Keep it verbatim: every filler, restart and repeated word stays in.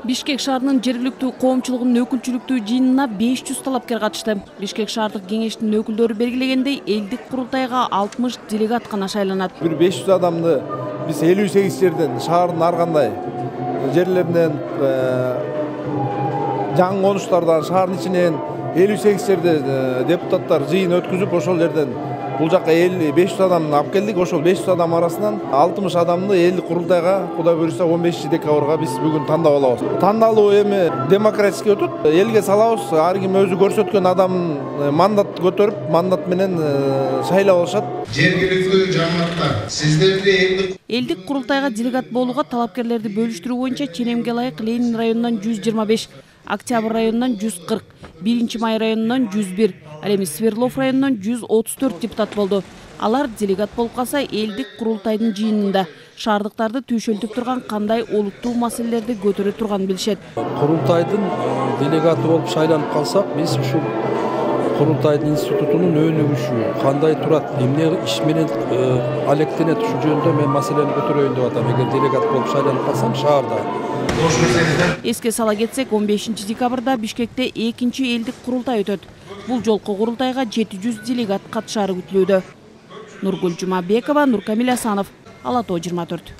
Бишкек шаарынын жергиликтүү коомчулугунун өкүлчүлүктүү жыйынына беш жүз талапкер катышты. Бишкек шаардык кеңештин өкүлдөрү белгилегендей, элдик курултайга алтымыш делегат гана шайланат. Бир беш жүз адамды биз элүү сегиз жерден, шаардын ар кандай жерлеринен, жаңы конуштардан, шаардын ичинен элүү сегиз жерде депутаттар жыйын өткүзүп, ошол жерден бул жакка беш жүз адамды алып келдик. Ошол беш жүз адам арасынан алтымыш адамды элдик курултайга, Кудай буюрса, он бешинчи декабрга биз бүгүн тандап алабыз. Тандалуу эми демократический өтөт. Элге салабыз, ар ким өзү көрсөткөн адам мандат көтөрүп, мандат менен шайлап алышат. Жергиликтүү жамааттар, сиздерди элдик элдик курултайга делегат болууга талапкерлерди бөлүштүрүү боюнча Ченемге ылайык Ленин районунан жүз жыйырма беш, Октябрь районунан жүз кырк, биринчи май районунан жүз бир, ал эми Свердлов районунан жүз отуз төрт депутат болду. Алар делегат болуп калса, элдик курултайдын жыйынында шаардыктарды түйшөлтүп турган кандай олуттуу маселелерди көтөрө турганын билишет. Курултайдын делегаты болуп шайланып калсак, биз ушул курултайдын институтунун өнүгүшү кандай турат, эмне иш менен алектенет, ушул жөнүндө мен маселени көтөрөйүн деп атам. Эгер делегат болуп шайланып калсам шаарда. Эске сала кетсек, он бешинчи декабрда Бишкекте экинчи элдик курултай өтөт. Бул жолку курултайга жети жүз делегат катышары күтүлүүдө. Нургүл Жумабекова, Нуркамил Асанов, Ала Тоо жыйырма төрт.